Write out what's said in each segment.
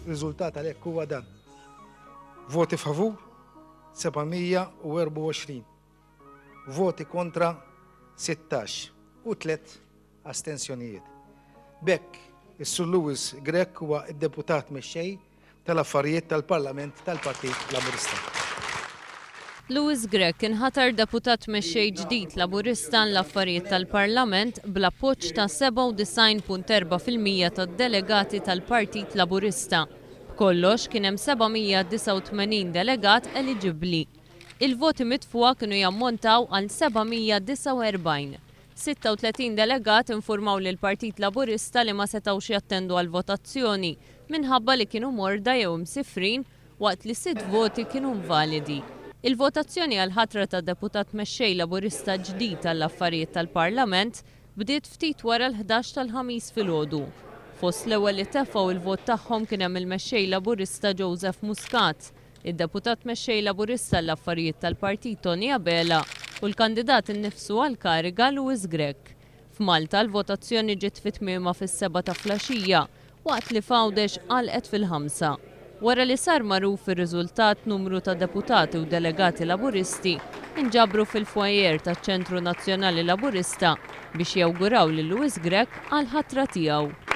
Riżultat għalhekk huwa dan. Voti favur 724. Voti kontra 16 u 3 astensjonijiet. B'hekk, is-Sur Louis Grech huwa d-Deputat Mexxej tal-Affarijiet tal-Parlament tal-Partit Laburista. Louis Grech inħatar Deputat Mexxej ġdid Laburista għall-Affarijiet tal-Parlament bl-appoġġ ta' 97.4% tad-delegati tal-Partit Laburista. B'kollox kien hemm 789 delegat eliġibbli. Il-voti mitfugħa kienu jammontaw għal 749. 36 delegat infurmaw lill-Partit Laburista li ma setgħux jattendu għall-votazzjoni minħabba li kienu morda jew imsifrin waqt li sitt voti kienu invalidi. Il-votazzjoni għall-ħatra ta' Deputat Mexxej Laburista ġdid għall-Affarijiet tal-Parlament bdiet ftit wara l-ħdax tal-Ħamis filgħodu. Fost l-ewwel li tefgħu l-vot tagħhom kien hemm il-Mexxej Laburista Joseph Muscat, id-Deputat Mexxej Laburista għall-Affarijiet tal-Partit Toni Abela u l-kandidat innifsu għall-kariga Louis Grech. F'Malta l-votazzjoni ġiet fi tmiemha fis-sebgħa ta' flaxija waqt li f'Għawdex għalqet fil-ħamsa. Wara li sar magħruf ir-riżultat numru ta' deputati u delegati Laburisti nġabru fil-foyer taċ-Ċentru Nazzjonali Laburista biex jawguraw lil Louis Grech għall-ħatra tiegħu.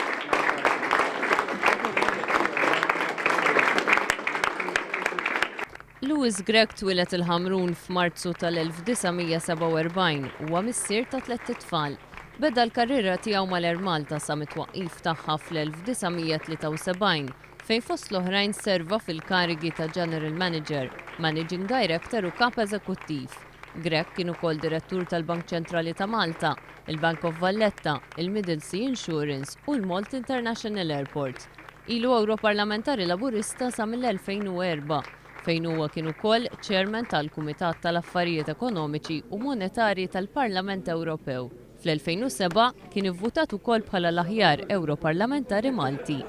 Louis Grech twieled il-Ħamrun f'Marzu tal-1947. Huwa missier ta' tlett itfal. Beda l-karriera tiegħu mal-Air Malta sa mit-twaqqif tagħha fl-1973, fejn fost l-oħrajn serva fil-karigi ta' General Manager, Managing Director u Kap Eżekuttiv. Grech kien ukoll Direttur tal-Bank Ċentrali ta' Malta, il-Bank of Valletta, il-Middle Sea Insurance u l-Malta International Airport. Ilu Ewroparlamentari Laburista sa mill-2004, fejn huwa kien ukoll Chairman tal-Kumitat tal-Affarijiet Ekonomiċi u Monetarji tal-Parlament Ewropew. Fl-2007 kien ivvutat ukoll bħala l-aħjar Ewroparlamentari Malti.